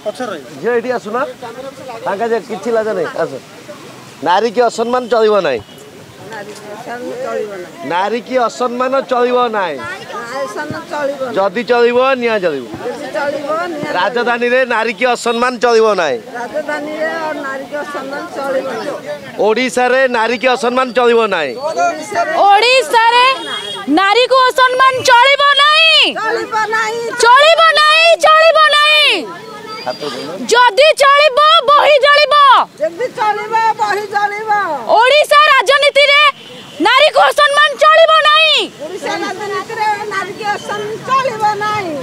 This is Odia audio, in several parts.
ଝିଅ ଏଠି ଆସୁନା, ଫାଙ୍କା ଯେ କିଛି ଲାଜ ନାହିଁ, ଆସ। ନାରୀ କି ଅସମ୍ମାନ ଚଳିବ ନାହିଁ, ନାରୀ କି ଅସମ୍ମାନ ଚଳିବ ନାହିଁ, ଯଦି ଚଳିବ ନିଆଁ ଜଳିବ। ରାଜଧାନୀରେ ନାରୀ କି ଅସମ୍ମାନ ଚଳିବ ନାହିଁ, ଓଡ଼ିଶାରେ ନାରୀ କି ଅସମ୍ମାନ ଚଳିବ ନାହିଁ, ଓଡ଼ିଶାରେ ନାରୀକୁ ଅସମ୍ମାନ ଚଳିବ ନାହିଁ, ଚଳିବ ନାହିଁ, ଚଳିବ ନାହିଁ। ଯଦି ଚଳିବ ବହି ଜଳିବ। ଓଡ଼ିଶା ରାଜନୀତିରେ ନାରୀକୁ ଅସମ୍ମାନ ଚଳିବ ନାହିଁ,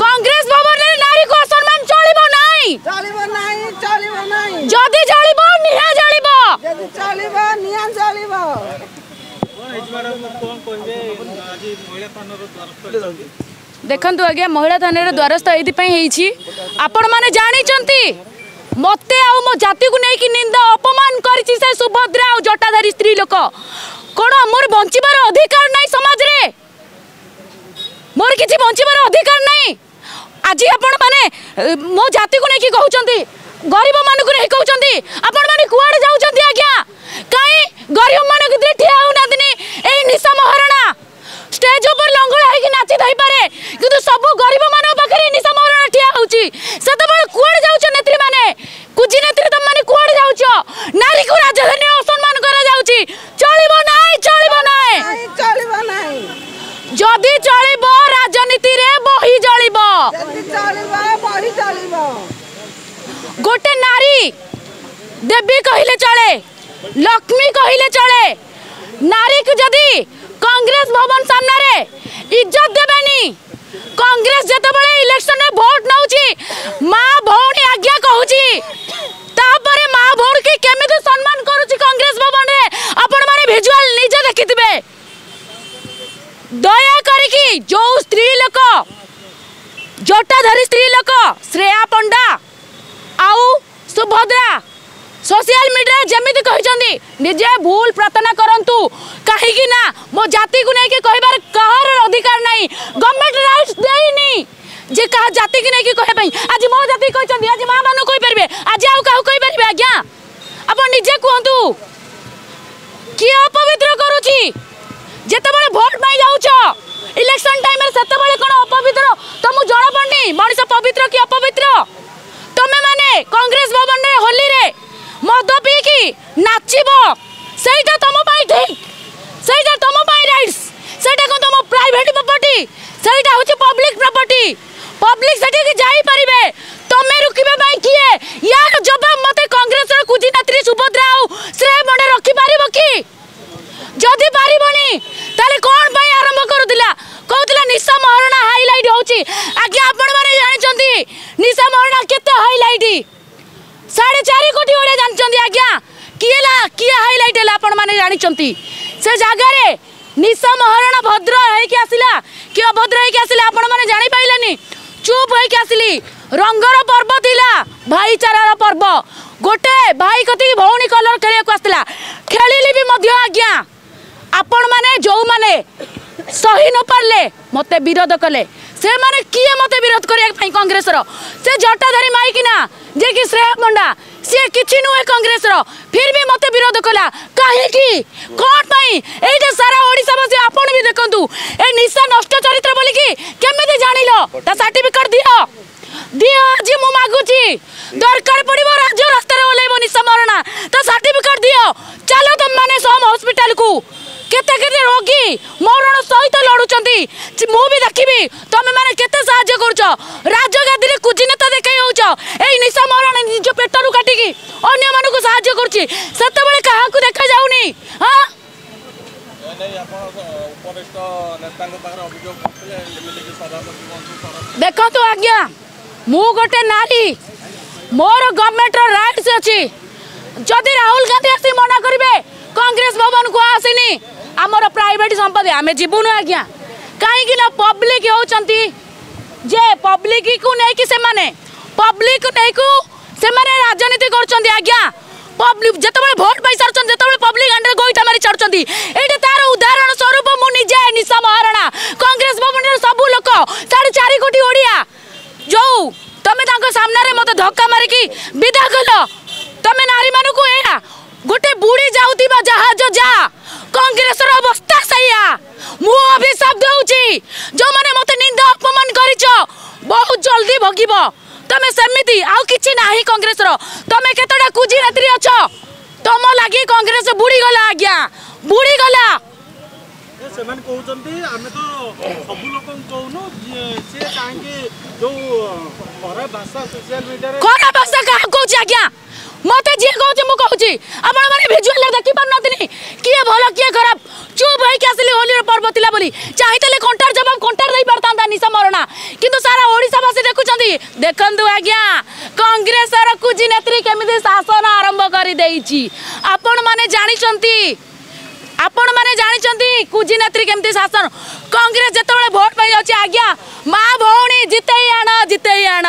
କଂଗ୍ରେସ ଭବନରେ ନାରୀକୁ ଅସମ୍ମାନ ଚଳିବ ନାହିଁ, ଯଦି ଜଳିବ ନିଆଁ ଜଳିବ। ଦେଖନ୍ତୁ ଆଜ୍ଞା, ମହିଳା ଥାନାରେ ଦ୍ୱାରସ୍ଥ ଏଇଥିପାଇଁ ହେଇଛି, ଆପଣମାନେ ଜାଣିଛନ୍ତି ମତେ ଆଉ ମୋ ଜାତିକୁ ନେଇକି ନିନ୍ଦା ଅପମାନ କରିଛି ସେ ସୁଭଦ୍ରା ଆଉ ଜଟାଧାରୀ ସ୍ତ୍ରୀ ଲୋକ। କ'ଣ ମୋର ବଞ୍ଚିବାର ଅଧିକାର ନାହିଁ ସମାଜରେ? ମୋର କିଛି ବଞ୍ଚିବାର ଅଧିକାର ନାହିଁ? ଆଜି ଆପଣମାନେ ମୋ ଜାତିକୁ ନେଇକି କହୁଛନ୍ତି, ଗରିବମାନଙ୍କୁ ନେଇ କହୁଛନ୍ତି, ଆପଣମାନେ କୁଆଡ଼େ ଯାଉଛନ୍ତି ଆଜ୍ଞା? କାହିଁ ଗରିବମାନଙ୍କ ଭିତରେ ଠିଆ ହେଉନାହାନ୍ତିନି? ଏଇ ନିଶା ମହାରଣା ଷ୍ଟେଜ ଉପରେ ଲଙ୍ଗଳା ହେଇକି ନାଚି ଥାଇପାରେ, କିନ୍ତୁ ସବୁ ଗରିବମାନଙ୍କ ପାଖରେ ନିଶା ମହାରଣା ଠିଆ ହେଉଛି। ସେତେବେଳେ କୁଆଡ଼େ ଯାଉଛ ନେତ୍ରୀମାନେ? କୁଜି ନେତ୍ରୀ ତମମାନେ କୁଆଡ଼େ ଯାଉଛ? ନାରୀକୁ ରାଜଧାନୀରେ ଅସମ୍ମାନ କରାଯାଉଛି, ଚଳିବ ନାହିଁ, ଚଳିବ ନାହିଁ। ଯଦି ଚଳିବ ରାଜନୀତିରେ ବହି ଜଳିବ। ଗୋଟେ ନାରୀ ଦେବୀ କହିଲେ ଚଳେ, ଲକ୍ଷ୍ମୀ କହିଲେ ଚଳେ। ନାରୀକୁ ଯଦି କଂଗ୍ରେସ ଭବନ ସାମ୍ନାରେ ଇଜ୍ଜତ ଦେବେନି, କଂଗ୍ରେସ ଯେତେବେଳେ ଇଲେକ୍ସନରେ ଭୋଟ ନେଉଛି ମା ଭଉଣୀ ଆଜ୍ଞା କହୁଛି, ତାପରେ ମା ଭଉଣୀକି କେମିତି ସମ୍ମାନ କରୁଛି କଂଗ୍ରେସ ଭବନରେ ଆପଣମାନେ ଭିଜୁଆଲ ନିଜେ ଦେଖିଥିବେ। ଦୟା କରିକି ଯୋଉ ସ୍ତ୍ରୀ ଲୋକ, ଜଟାଧାରୀ ସ୍ତ୍ରୀ ଲୋକ ଶ୍ରେୟା ପଣ୍ଡା ଆଉ ସୁଭଦ୍ରା ସୋସିଆଲ ମିଡ଼ିଆରେ ଯେମିତି କହିଛନ୍ତି, ନିଜେ ଭୁଲ ପ୍ରାର୍ଥନା କରନ୍ତୁ, କାହିଁକି ନା ମୋ ଜାତିକୁ ନେଇକି କହିବାର କାହାର ଅଧିକାର ନାହିଁ। ଗଭର୍ଣ୍ଣମେଣ୍ଟ ରାଇଟ୍ସ ଦେଇନି ଯେ କାହା ଜାତିକି ନେଇକି କହିବା ପାଇଁ। ଆଜି ମୋ ଜାତି କହିଛନ୍ତି, ଆଜି ମା ମାନଙ୍କୁ କହିପାରିବେ, ଆଜି ଆଉ କାହାକୁ କହିପାରିବେ ଆଜ୍ଞା? ଆପଣ ନିଜେ କୁହନ୍ତୁ, କିଏ ଅପବିତ୍ର କରୁଛି? ଯେତେବେଳେ ଭୋଟ ପାଇଁ ଯାଉଛ ଇଲେକ୍ସନ ଟାଇମରେ, ସେତେବେଳେ କ'ଣ ଅପବିତ୍ର ତମକୁ ଜଣାପଡ଼ୁନି ମଣିଷ ପବିତ୍ର କି ଅପବିତ୍ର? ତମେ ମାନେ କଂଗ୍ରେସ ଭବନରେ ହୋଲିରେ ମଦ ପିଇକି ନାଚିବ, ସେଇଟା ତମ ପାଇଁ ଠିକ, ସେଇଟା ତମ ପାଇଁ ରାଇଟ୍ସ? ସେଇଟା କ'ଣ ତମ ପ୍ରାଇଭେଟ ପ୍ରପର୍ଟି? ସେଇଟା ହେଉଛି ପବ୍ଲିକ ପ୍ରପର୍ଟି। ପବ୍ଲିକ ସେଠିକି ଯାଇପାରିବେ, ତମେ ରୋକିବା ପାଇଁ କିଏ? ୟାର ଜବାବ ମତେ କଂଗ୍ରେସର କୁଜି ନେତ୍ରୀ ସୁଭଦ୍ରା ଆଉ ଶ୍ରେୟ ପଣ୍ଡା ରଖିପାରିବ କି? ଯଦି ପାରିବନି ତାହେଲେ କ'ଣ ପାଇଁ ଆରମ୍ଭ କରୁଥିଲା? କହୁଥିଲା ନିଶା ମହାରଣା ହାଇଲାଇଟ୍ ହେଉଛି। ଆଜ୍ଞା ଆପଣମାନେ ଜାଣିଛନ୍ତି ନିଶା ମହାରଣା କେତେ ହାଇଲାଇଟ୍? 4.5 କୋଟି ଓଡ଼ିଆ ଜାଣିଛନ୍ତି ଆଜ୍ଞା। କିଏ କିଏ ହାଇଲାଇଟ୍ ହେଲା ଆପଣମାନେ ଜାଣିଛନ୍ତି। ସେ ଜାଗାରେ ନିଶା ମହାରଣା ଭଦ୍ର ହେଇକି ଆସିଲା କି ଅଭଦ୍ର ହେଇକି ଆସିଲା ଆପଣମାନେ ଜାଣିପାରିଲେନି। ଚୁପ୍ ହେଇକି ଆସିଲି। ରଙ୍ଗର ପର୍ବ ଥିଲା, ଭାଇଚାରାର ପର୍ବ। ଗୋଟେ ଭାଇ କତିକି ଭଉଣୀ କଲର ଖେଳିବାକୁ ଆସିଥିଲା, ଖେଳିଲି ବି ମଧ୍ୟ ଆଜ୍ଞା। ଆପଣମାନେ ଯେଉଁମାନେ ସହି ନ ପାରିଲେ ମୋତେ ବିରୋଧ କଲେ, ସେମାନେ କିଏ ମୋତେ ବିରୋଧ କରିବା ପାଇଁ? କଂଗ୍ରେସର ସେ ଜଟାଧାରୀ ମାଇକିନା ଯିଏକି ଶ୍ରେୟା ପଣ୍ଡା, ସିଏ କିଛି ନୁହେଁ କଂଗ୍ରେସର, ଫିର୍ ବି ମୋତେ ବିରୋଧ କଲା କାହିଁକି? କ'ଣ ପାଇଁ? ଏଇଟା ସାରା ଓଡ଼ିଶାବାସୀ ଆପଣ ବି ଦେଖନ୍ତୁ। ଏ ନିଶା ନଷ୍ଟ ଚରିତ୍ର ବୋଲିକି କେମିତି ଜାଣିଲ? ତା ସାର୍ଟିଫିକେଟ ଦିଅ, ଦିଅ, ଆଜି ମୁଁ ମାଗୁଛି। ଦରକାର ପଡ଼ିବ ରାଜ୍ୟ ରାସ୍ତାରେ ଓହ୍ଲେଇବ ନିଶା ମରଣା, ତା ସାର୍ଟିଫିକେଟ ଦିଅ। ଚାଲ ତମମାନେ ସମ୍ ହସ୍ପିଟାଲକୁ, କେତେ କେତେ ରୋଗୀ ମରଣ ସହିତ ଲଢୁଛନ୍ତି, ମୁଁ ବି ଦେଖିବି ତମେ ମାନେ କେତେ ସାହାଯ୍ୟ କରୁଛ। ରାଜଗାଦିରେ କୁଜି ନେତା ଦେଖେଇ ହଉଛ, ଏଇ ନିଶା ମରଣ ନିଜ ପେଟରୁ କାଟିକି ଅନ୍ୟମାନଙ୍କୁ ସାହାଯ୍ୟ କରୁଛି, ସେତେବେଳେ କାହାକୁ ଦେଖାଯାଉନି? ହଁ, ଦେଖନ୍ତୁ ଆଜ୍ଞା, ମୁଁ ଗୋଟେ ନାରୀ, ମୋର ଗଭର୍ଣ୍ଣମେଣ୍ଟର ରାଇଟ୍ସ ଅଛି। ଯଦି ରାହୁଲ ଗାନ୍ଧୀ ଆସି ମନା କରିବେ କଂଗ୍ରେସ ଭବନକୁ ଆସିନି, ଆମର ପ୍ରାଇଭେଟ ସମ୍ପତ୍ତି, ଆମେ ଯିବୁନୁ ଆଜ୍ଞା। କାହିଁକି ନା ପବ୍ଲିକ ହେଉଛନ୍ତି ଯେ ପବ୍ଲିକକୁ ନେଇକି ସେମାନେ, ପବ୍ଲିକ ନେଇକୁ ସେମାନେ ରାଜନୀତି କରୁଛନ୍ତି ଆଜ୍ଞା। ପବ୍ଲିକ ଯେତେବେଳେ ଭୋଟ ପାଇସାରୁଛନ୍ତି, ଯେତେବେଳେ ପବ୍ଲିକ ହାଣ୍ଡରେ ଗୋଇଠା ମାରି ଛାଡୁଛନ୍ତି, ଏଇଟା ତାର ଉଦାହରଣ ସ୍ୱରୂପ ମୁଁ ନିଜେ ନିଶା ମହାରଣା। କଂଗ୍ରେସ ଭବନରେ ସବୁ ଲୋକ 4.5 କୋଟି ଓଡ଼ିଆ, ଯୋଉ ତମେ ତାଙ୍କ ସାମ୍ନାରେ ମୋତେ ଧକ୍କା ମାରିକି ମୁଁ ଅଭିଶାପ ଦେଉଛି, ଯେଉଁମାନେ ମୋତେ ନିନ୍ଦା ଅପମାନ କରିଛ, ବହୁତ ଜଲ୍ଦି ଭୋଗିବ ତମେ। ସେମିତି ଆଉ କିଛି ନାହିଁ କଂଗ୍ରେସର। ତମେ କେତେଟା କୁଜି ନେତ୍ରୀ ଅଛ, ତମ ଲାଗି କଂଗ୍ରେସ ବୁଡ଼ିଗଲା ଆଜ୍ଞା, ବୁଡ଼ିଗଲା। ସେମାନେ କହୁଛନ୍ତି ଆମେ ତ ସବୁ ଲୋକଙ୍କୁ କହୁନୁ, ସିଏ କାହିଁକି ଯୋଉ ଖରାପ ଭାଷା ସୋସିଆଲ ମିଡିଆରେ? ଖରାପ ଭାଷା କାହାକୁ କହୁଛି ଆଜ୍ଞା? ମତେ ଯିଏ କହୁଛି ମୁଁ କହୁଛି। ଆପଣମାନେ ଭିଜୁଆଲରେ ଦେଖିପାରୁନାହାନ୍ତିନି କିଏ ଭଲ କିଏ ଖରାପ। ଚୁପ୍ ହେଇକି ଆସିଲି, ହୋଲିର ପର୍ବ ଥିଲା ବୋଲି। ଚାହିଁଥିଲେ କଣ୍ଟାର ଜବାବ କଣ୍ଟାର ଦେଇପାରିଥାନ୍ତା ନିଶା ମରଣା, କିନ୍ତୁ ସାରା ଓଡ଼ିଶାବାସୀ ଦେଖୁଛନ୍ତି। ଦେଖନ୍ତୁ ଆଜ୍ଞା, କଂଗ୍ରେସର କୁଜି ନେତ୍ରୀ କେମିତି ଶାସନ ଆରମ୍ଭ କରିଦେଇଛି। ଆପଣମାନେ ଜାଣିଛନ୍ତି, ଆପଣମାନେ ଜାଣିଛନ୍ତି କୁଜି ନେତ୍ରୀ କେମିତି ଶାସନ। କଂଗ୍ରେସ ଯେତେବେଳେ ଭୋଟ ପାଇଁ ଯାଉଛି ଆଜ୍ଞା, ମା ଭଉଣୀ ଜିତେଇ ଆଣ, ଜିତେଇ ଆଣ,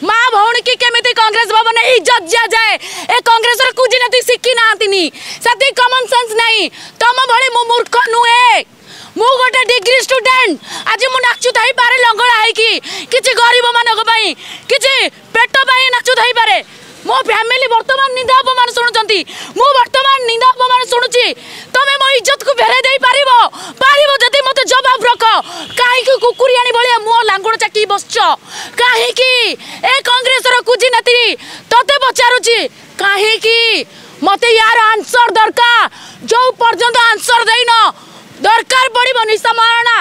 ମା ଭଉଣୀ କି କେମିତି କଂଗ୍ରେସ ଭବନ ଇଜ୍ଜତ ଦିଆଯାଏ ଏ କଂଗ୍ରେସର କୁଜି ନେତ୍ରୀ ଶିଖି ନାହାନ୍ତିନି। ସେତିକି କମନ ସେନ୍ସ ନାହିଁ। ତମ ଭଳି ମୁଁ ମୂର୍ଖ ନୁହେଁ, ମୁଁ ଗୋଟେ ଡିଗ୍ରୀ ଷ୍ଟୁଡେଣ୍ଟ। ଆଜି ମୁଁ ନାଚୁଥାଇପାରେ ଲଙ୍ଗଳା ହେଇକି, କିଛି ଗରିବ ମାନଙ୍କ ପାଇଁ, କିଛି ପେଟ ପାଇଁ ନାଚୁଥାଇପାରେ। ମୋ ଫ୍ୟାମିଲି ବର୍ତ୍ତମାନ ନିନ୍ଦା ଅପମାନ ଶୁଣୁଛନ୍ତି, ମୁଁ ବର୍ତ୍ତମାନ ନିନ୍ଦା ଅପମାନ ଶୁଣୁଛି। ତମେ ମୋ ଇଜ୍ଜତକୁ ଫେରାଇ ଦେଇପାରିବ? ପାରିବ ଯଦି ମୋତେ ଜବାବ ରଖ। କାହିଁକି କୁକୁରିଆଣୀ ଭଳିଆ ମୁହଁ ଲାଙ୍ଗୁଡ଼ ଚାକି ବସିଛ କାହିଁକି? ଏ କଂଗ୍ରେସର କୁଜି ନେତ୍ରୀ ତତେ ପଚାରୁଛି କାହିଁକି? ମତେ ୟାର ଆନ୍ସର ଦରକାର। ଯୋଉ ପର୍ଯ୍ୟନ୍ତ ଆନ୍ସର ଦେଇନ, ଦରକାର ପଡ଼ିବ ନିଶା ମହାରଣା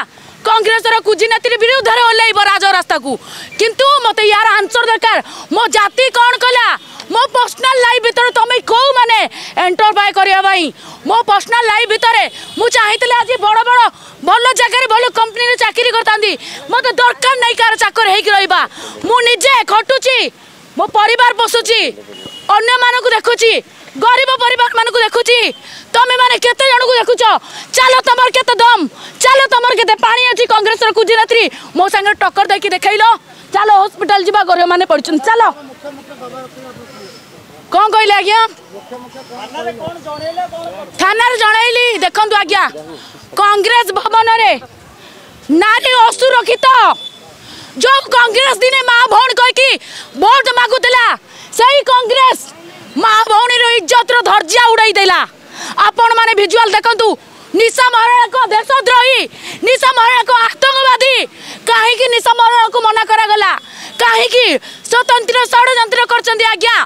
କଂଗ୍ରେସର କୁଜି ନେତ୍ରୀ ବିରୁଦ୍ଧରେ ଓହ୍ଲେଇବ ରାଜରାସ୍ତାକୁ। କିନ୍ତୁ ମତେ ୟାର ଆନ୍ସର ଦରକାର। ମୋ ଜାତି କ'ଣ କଲା? ମୋ ପର୍ସନାଲ ଲାଇଫ୍ ଭିତରେ ତମେ କେଉଁମାନେ ଏଣ୍ଟରଫାଏ କରିବା ପାଇଁ? ମୋ ପର୍ସନାଲ ଲାଇଫ୍ ଭିତରେ ମୁଁ ଚାହିଁଥିଲେ ଆଜି ବଡ଼ ବଡ଼ ଭଲ ଜାଗାରେ ଭଲ କମ୍ପାନୀରେ ଚାକିରି କରିଥାନ୍ତି। ମୋତେ ଦରକାର ନାହିଁ କାହାର ଚାକର ହେଇକି ରହିବା। ମୁଁ ନିଜେ ଖଟୁଛି, ମୋ ପରିବାର ପୋଷୁଛି, ଅନ୍ୟମାନଙ୍କୁ ଦେଖୁଛି, ଗରିବ ପରିବାରମାନଙ୍କୁ ଦେଖୁଛି। ତମେ ମାନେ କେତେ ଜଣକୁ ଦେଖୁଛ? ଚାଲ, ତମର କେତେ ଦମ, ଚାଲ, ତମର କେତେ ପାଣି ଅଛି। କଂଗ୍ରେସର କୁଜି ନେତ୍ରୀ ମୋ ସାଙ୍ଗରେ ଟକ୍କର ଦେଇକି ଦେଖେଇଲ। ଚାଲ, ହସ୍ପିଟାଲ ଯିବା, ଗରିବ ମାନେ ପଡ଼ିଛନ୍ତି, ଚାଲ। କ'ଣ କହିଲେ ଆଜ୍ଞା? ଥାନାରେ ଜଣେଇଲି। ଦେଖନ୍ତୁ ଆଜ୍ଞା, କଂଗ୍ରେସ ଭବନରେ ନାରୀ ଅସୁରକ୍ଷିତ। ଯୋଉ କଂଗ୍ରେସ ଦିନେ ମା ଭଉଣୀ କହିକି ଭୋଟ ମାଗୁଥିଲା, ସେଇ କଂଗ୍ରେସ ମା ଭଉଣୀର ଇଜ୍ଜତର ଧର୍ଯ୍ୟା ଉଡ଼େଇ ଦେଲା। ଆପଣମାନେ ଭିଜୁଆଲ ଦେଖନ୍ତୁ। ନିଶା ମହାରଣାଙ୍କ ଦେଶଦ୍ରୋହୀ, ନିଶା ମହାରଣାଙ୍କ ଆତଙ୍କବାଦୀ। କାହିଁକି ନିଶା ମହାରଣାକୁ ମନା କରାଗଲା? କାହିଁକି ସ୍ୱତନ୍ତ୍ର ଷଡ଼ଯନ୍ତ୍ର କରିଛନ୍ତି ଆଜ୍ଞା?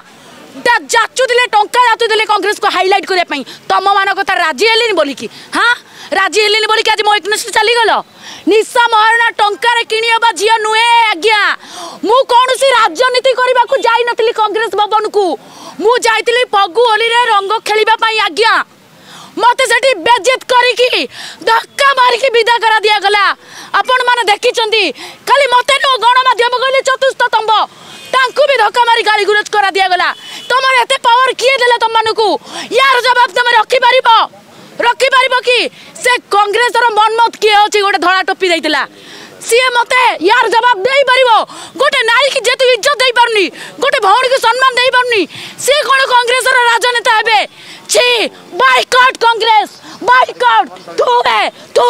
ଯାଚୁଥିଲେ, ଟଙ୍କା ଯାଚୁଥିଲେ କଂଗ୍ରେସକୁ ହାଇଲାଇଟ୍ କରିବା ପାଇଁ। ତମମାନଙ୍କ କଥା ରାଜି ହେଲିନି ବୋଲିକି, ହଁ, ରାଜି ହେଲିନି ବୋଲିକି ଆଜି ମୋ ଏଗନେଷ୍ଟ ଚାଲିଗଲ। ନିଶା ମହାରଣା ଟଙ୍କାରେ କିଣି ହେବା ଝିଅ ନୁହେଁ ଆଜ୍ଞା। ମୁଁ କୌଣସି ରାଜନୀତି କରିବାକୁ ଯାଇନଥିଲି କଂଗ୍ରେସ ଭବନକୁ, ମୁଁ ଯାଇଥିଲି ଫଗୁ ହୋଲିରେ ରଙ୍ଗ ଖେଳିବା ପାଇଁ ଆଜ୍ଞା। ମତେ ସେଠି ବେଜିତ କରିକି ଧକ୍କା ମାରିକି ବିଦା କରା ଦିଆଗଲା। ଆପଣମାନେ ଦେଖିଛନ୍ତି। ଖାଲି ମତେ ନୁହଁ, ଗଣମାଧ୍ୟମ କହିଲେ ଚତୁର୍ଥ ସ୍ତମ୍ଭ, ତାଙ୍କୁ ବି ଧକ୍କା ମାରି ଗାଳି ଗୁଲଜ କରା ଦିଆଗଲା। ତମର ଏତେ ପାୱାର କିଏ ଦେଲା ତମମାନଙ୍କୁ? ୟାର ଜବାବ ତମେ ରଖିପାରିବ? ରଖିପାରିବ କି? ସେ କଂଗ୍ରେସର ମନ୍ମଥ କିଏ ଅଛି, ଗୋଟେ ଧଳା ଟୋପି ଦେଇଥିଲା, ସିଏ ମତେ ୟାର ଜବାବ ଦେଇପାରିବ? ଗୋଟେ ନାରୀକି ଯେହେତୁ ଇଜ୍ଜତ ଦେଇପାରୁନି, ଗୋଟେ ଭଉଣୀକୁ ସମ୍ମାନ ଦେଇପାରୁନି, ସିଏ କ'ଣ କଂଗ୍ରେସର ରାଜନେତା ହେବେ? ଛି, ବାଇକଟ୍ କଂଗ୍ରେସ, ବାଇକଟ୍। ତୁ ତୁ।